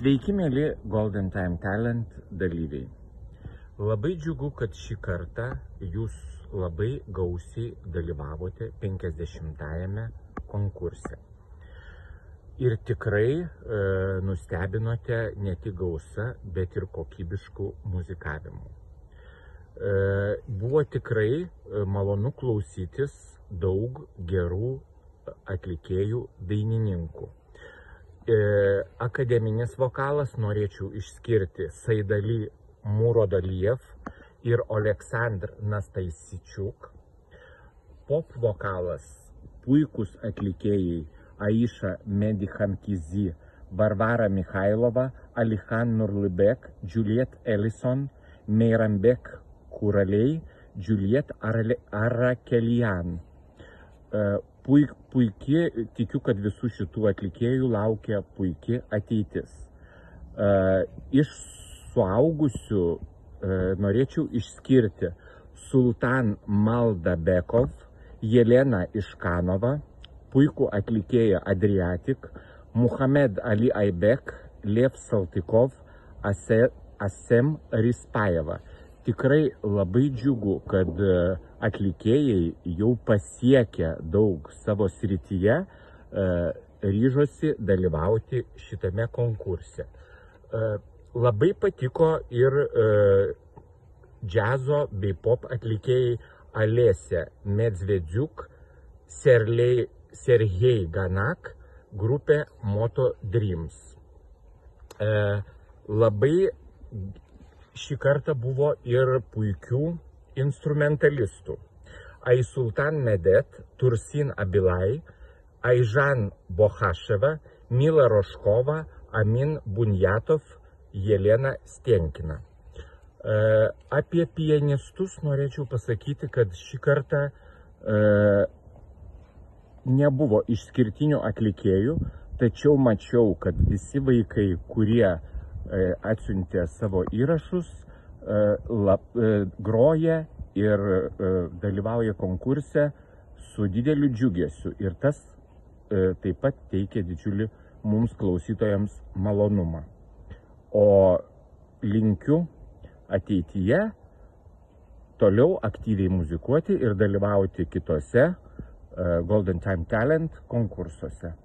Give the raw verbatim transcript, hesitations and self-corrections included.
Sveiki, mėly Golden Time Talent dalyviai. Labai džiugu, kad šį kartą jūs labai gausiai dalyvavote penkiasdešimtajame konkurse. Ir tikrai e, nustebinote ne tik gausa, bet ir kokybiškų muzikavimų. E, buvo tikrai e, malonu klausytis daug gerų atlikėjų dainininkų. E, akademinis vokalas norėčiau išskirti Saidali Murodaliev ir Oleksandr Nastaisičiuk. Pop vokalas puikus atlikėjai Aisha Medikhankizi, Varvara Mikhailova, Alihan Nurlibek, Juliet Ellison, Meirambek Kuralei, Juliet Arakelian. Puik, puikiai, tikiu, kad visų šitų atlikėjų laukia puikiai ateitis. Iš suaugusių norėčiau išskirti Sultan Maldabekov, Jelena Iškanova, puikų atlikėją Adriatik, Muhamed Ali Aibek, Lev Saltikov, Asem Rispajeva. Tikrai labai džiugu, kad atlikėjai jau pasiekę daug savo srityje, ryžosi dalyvauti šitame konkurse. Labai patiko ir džiazo bei pop atlikėjai Alesė Medzvedziuk, Sergej Ganak, grupė Moto Dreams. Labai šį kartą buvo ir puikių instrumentalistų. Aisultan Medet, Tursin Abilai, Aižan Bohaševa, Mila Roškova, Amin Bunjatov, Jelena Stenkina. E, apie pianistus norėčiau pasakyti, kad šį kartą e, nebuvo išskirtinių atlikėjų, tačiau mačiau, kad visi vaikai, kurie atsiuntė savo įrašus, lab, groja ir dalyvauja konkurse su dideliu džiugesiu. Ir tas taip pat teikia didžiulį mums klausytojams malonumą. O linkiu ateityje toliau aktyviai muzikuoti ir dalyvauti kitose Golden Time Talent konkursuose.